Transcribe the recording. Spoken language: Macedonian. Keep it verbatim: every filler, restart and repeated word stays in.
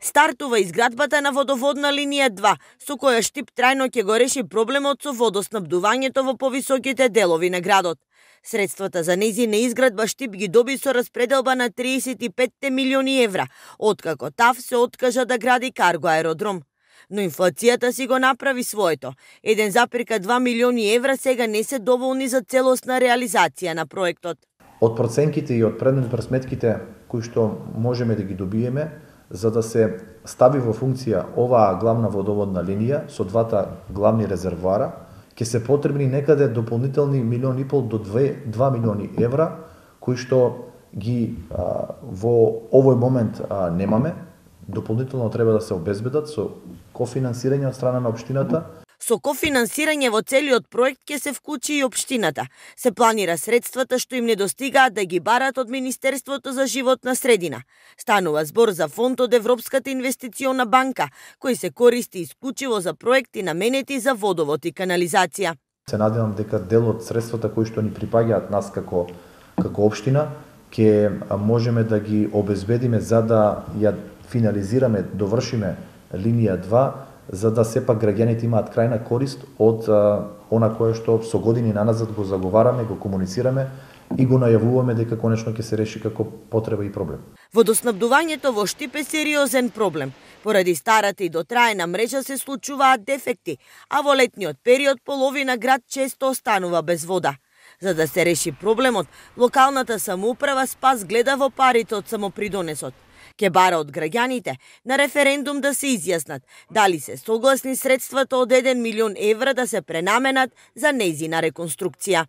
Стартува изградбата на водоводна линија два, со која Штип трајно ќе го реши проблемот со водоснабдувањето во повисоките делови на градот. Средствата за нејзина изградба Штип ги доби со распределба на триесет и пет милиони евра, откако ТАВ се откажа да гради карго аеродром. Но инфлацијата си го направи своето. еден запирка два милиони евра сега не се доволни за целосна реализација на проектот. Од проценките и од предмет пресметките кои што можеме да ги добиеме, за да се стави во функција оваа главна водоводна линија со двата главни резервоара, ќе се потребни некаде дополнителни милион и пол до два милиони евра, кои што ги а, во овој момент а, немаме. Дополнително треба да се обезбедат со кофинансирање од страна на општината. Со кофинансирање во целиот проект ќе се вклучи и општината. Се планира средствата што им недостигаат да ги барат од Министерството за животна средина. Станува збор за фонд од Европската инвестициона банка, кој се користи исклучиво за проекти наменети за водовод и канализација. Се надевам дека дел од средствата кои што ни припаѓаат нас како како општина ќе можеме да ги обезбедиме за да ја финализираме, довршиме линија два, за да сепак граѓаните имаат крајна корист од а, она кое што со години наназад го заговараме, го комуницираме и го најавуваме дека конечно ќе се реши како потреба и проблем. Водоснабдувањето во Штип е сериозен проблем. Поради старата и дотраена мрежа се случуваат дефекти, а во летниот период половина град често останува без вода. За да се реши проблемот, локалната самоуправа спас гледа во парите од самопридонесот. Ке бара од граѓаните на референдум да се изјаснат дали се согласни средствата од еден милион евра да се пренаменат за нејзина реконструкција.